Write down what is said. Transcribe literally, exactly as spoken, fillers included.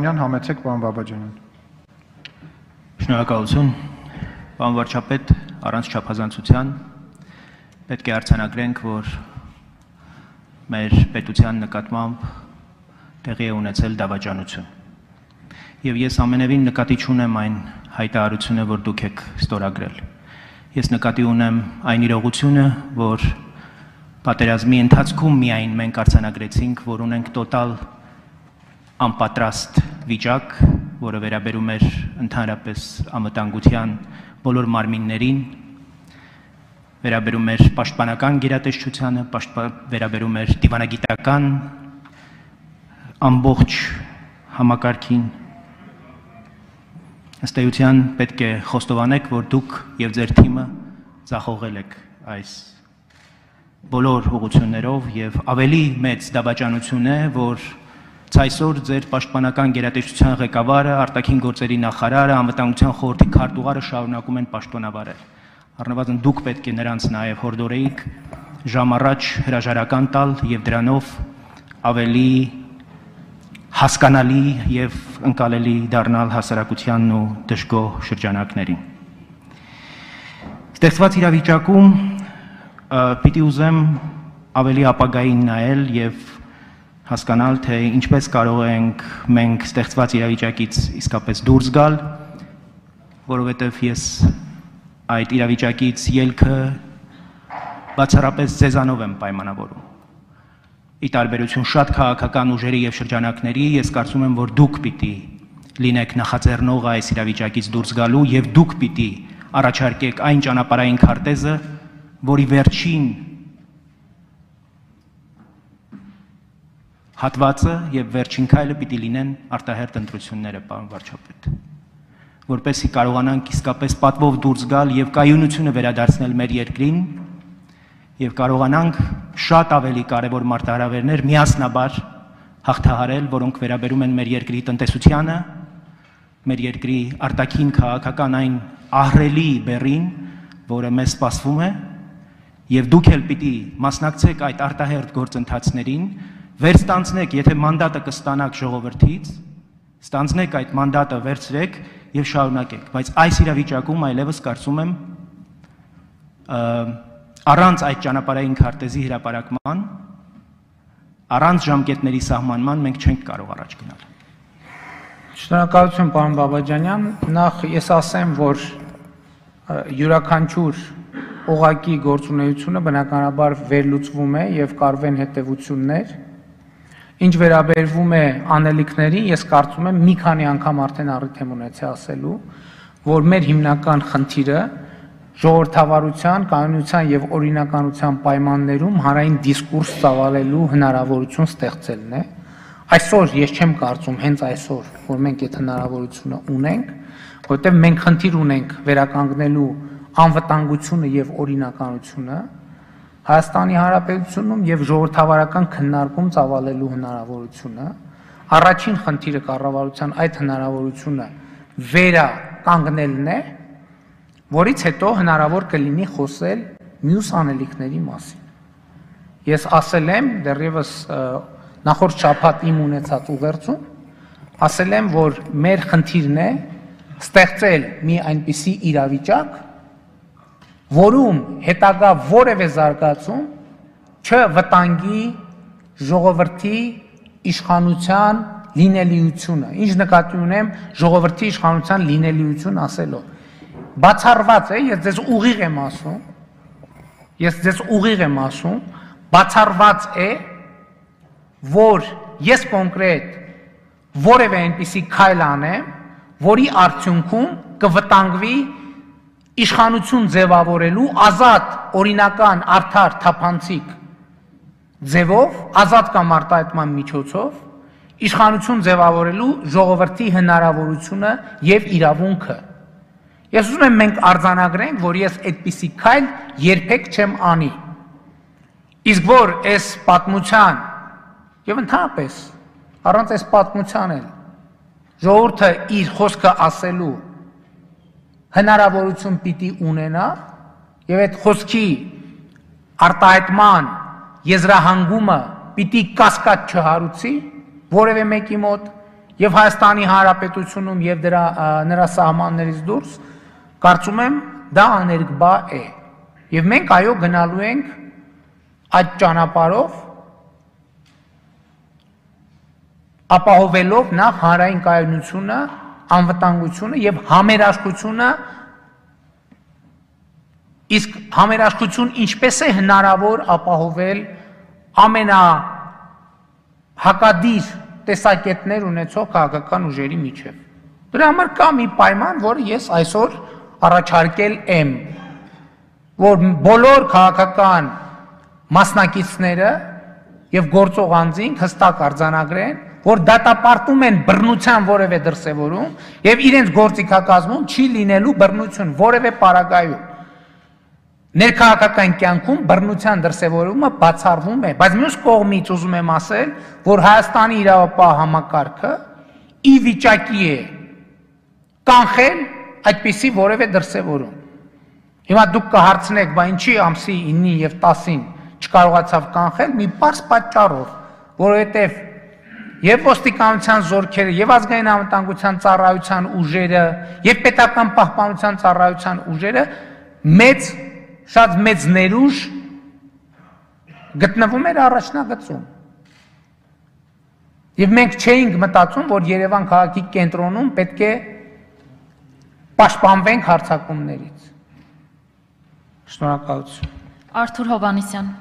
Համեցեք, պարոն Բաբաջանյան։ Շնորհակալություն, պարոն վարչապետ, առանց չափազանցության պետք է արձանագրենք, որ մեր պետության նկատմամբ տեղի է ունեցել դավաճանություն։ Եվ ես ամենևին նկատի չունեմ այն հայտարարությունը, որ դուք եք ստորագրել։ Ես նկատի ունեմ այն իրողությունը, որ պատերազմի ընթացքում միայն մենք արձանագրեցինք, որ ունենք տոտալ անպատրաստ վիճակ, որը վերաբերում էր ընդհանրապես անվտանգության բոլոր մարմիններին, վերաբերում էր պաշտպանական գերատեսչությանը, վերաբերում էր դիվանագիտական ամբողջ համակարգին։ Ըստ էության պետք է խոստովանեք, որ դուք եւ ձեր թիմը ձախողել եք այս բոլոր ուղղություններով եւ ավելի մեծ դավաճանություն է, որ այսօր ձեր պաշտպանական գերատեսչության ղեկավարը, արտաքին գործերի նախարարը, անվտանգության խորհրդի քարտուղարը շարունակում են պաշտոնավարել։ Առնվազն դուք պետք է նրանց նաև հորդորեիք ժամ առաջ հրաժարական տալ եւ դրանով ավելի հասկանալի եւ ընկալելի դառնալ հասարակությանն ու դժգոհ շրջանակներին։ Ստեղծված իրավիճակում պիտի ուզեմ ավելի ապագային նայել եւ հասկանալ, թե ինչպես կարող ենք մենք ստեղծված իրավիճակից իսկապես դուրս գալ, որովհետև ես այդ իրավիճակից ելքը բացառապես ձեզանով եմ պայմանավորում։ Ի տարբերություն շատ քաղաքական ուժերի եւ շրջանակների, ես կարծում եմ, որ դուք պիտի լինեք նախաձեռնողը այս իրավիճակից դուրս գալու եւ դուք պիտի առաջարկեք այն ճանապարհային քարտեզը, որի վերջին հատվածը եւ վերջին քայլը պիտի լինեն արտահերթ ընտրությունները, պարոն վարչապետ, որպեսզի կարողանանք իսկապես պատվով դուրս գալ եւ կայունությունը վերադարձնել մեր երկրին եւ կարողանանք շատ ավելի կարեւոր մարտահրավերներ միասնաբար հաղթահարել, որոնք վերաբերում են մեր երկրի տնտեսությանը, մեր երկրի արտաքին քաղաքական այն ահռելի բեռին, որը մեզ սպասվում է, եւ դուք էլ պիտի մասնակցեք այդ արտահերթ գործընթացներին, վերստանցնեք, եթե մանդատը կստանաք ժողովրդից, ստանցնեք այդ մանդատը, վերցրեք եւ շարունակեք, բայց այս իրավիճակում այլևս կարծում եմ առանց այդ ճանապարհային քարտեզի հրապարակման, առանց ժամկետների սահմանման մենք չենք կարող առաջ գնալ։ Շնորհակալություն, պարոն Բաբաջանյան, նախ ես ասեմ, որ յուրաքանչյուր օղակի գործունեությունը բնականաբար վերլուծվում է եւ կարվեն հետեւություններ։ Ինչ վերաբերվում է անելիքներին, ես կարծում եմ մի քանի անգամ արդեն առիթ եմ ունեցել ասելու, որ մեր հիմնական խնդիրը ժողովրդավարության, կանոնության եւ օրինականության պայմաններում հանրային դիսկուրս ծավալելու հնարավորություն ստեղծելն է։ Այսօր ես չեմ կարծում հենց այսօր, որ մենք այդ հնարավորությունը ունենք, որովհետեւ մենք խնդիր ունենք վերականգնելու անվտանգությունը եւ օրինականությունը Հայաստանի Հանրապետությունում եւ ժողովրդավարական քննարկում ծավալելու հնարավորությունը, առաջին խնդիրը կառավարության այդ հնարավորությունը վերականգնելն է, որից հետո հնարավոր կլինի խոսել մյուս անելիքների մասին։ Ես ասել եմ դեռևս նախորդ շաբաթ իմ ունեցած ուղերձում, ասել եմ, որ մեր խնդիրն է ստեղծել մի այնպիսի իրավիճակ, որում հետագա որևէ զարգացում չվտանգի ժողովրդի իշխանության լինելիությունը, ինչ նկատի ունեմ ժողովրդի իշխանության լինելիություն ասելով։ Բացառված է, ես ձեզ ուղիղ եմ ասում, ես ձեզ ուղիղ եմ ասում, բացառված է, որ ես կոնկրետ որևէ այնպիսի քայլ անեմ, որի արդյունքում կվտանգվի իշխանություն ձևավորելու ազատ, օրինական, արդար, թափանցիկ ձևով, ազատ կամ արտահայտման միջոցով, իշխանություն ձևավորելու ժողովրդի հնարավորությունը եւ իրավունքը։ Ես ուզում եմ մենք արձանագրենք, որ ես այդպիսի քայլ երբեք չեմ անի։ Իսկ որ այս պատմության եւ ընդհանրապես առանց այս պատմության էլ ժողովուրդը իր խոսքը ասելու հնարավորություն պիտի ունենա եւ այդ խոսքի արտահայտման եզրահանգումը պիտի կասկած չհարուցի որևէ մեկի մոտ եւ Հայաստանի Հանրապետությունում եւ դրա նրա սահմաններից դուրս, կարծում եմ դա աներկբա է։ Եվ մենք այո գնալու ենք այդ ճանապարհով, ապահովելով նախ հանրային կայունությունը, անվտանգությունը եւ համերաշխությունը, իսկ համերաշխություն ինչպես է հնարավոր ապահովել ամենա հակադիր տեսակետներ ունեցող քաղաքական ուժերի միջև։ Դրա համար կա մի պայման, որը ես այսօր առաջարկել եմ, որ բոլոր քաղաքական մասնակիցները եւ գործող անձինք հստակ արձանագրեն, որ դատապարտում են բռնության որևէ դրսևորում եւ իրենց գործիքակազմում չի լինելու բռնություն որևէ պարագայում։ Ներքաղաքական կյանքում բռնության դրսևորումը բացառվում է, բայց մյուս կողմից ուզում եմ ասել, որ Հայաստանի իրավապահ համակարգը ի վիճակի է կանխել այդպիսի որևէ դրսևորում։ Հիմա դուք կհարցնեք, բա ինչի ամսի իննին եւ տասին չկարողացավ կանխել, մի պարզ պատճառով, որովհետեւ եւ ոստիկանության զորքերը, եւ ազգային անվտանգության ծառայության ուժերը, եւ պետական պահպանության ծառայության ուժերը մեծ շատ մեծ ներուժ գտնվում էր առաջնագծում։ Եվ մենք չէինք մտածում, որ Երևան քաղաքի կենտրոնում պետք է պաշտպանվենք հարձակումներից։ Շնորհակալություն։ Արթուր Հովհաննիսյան։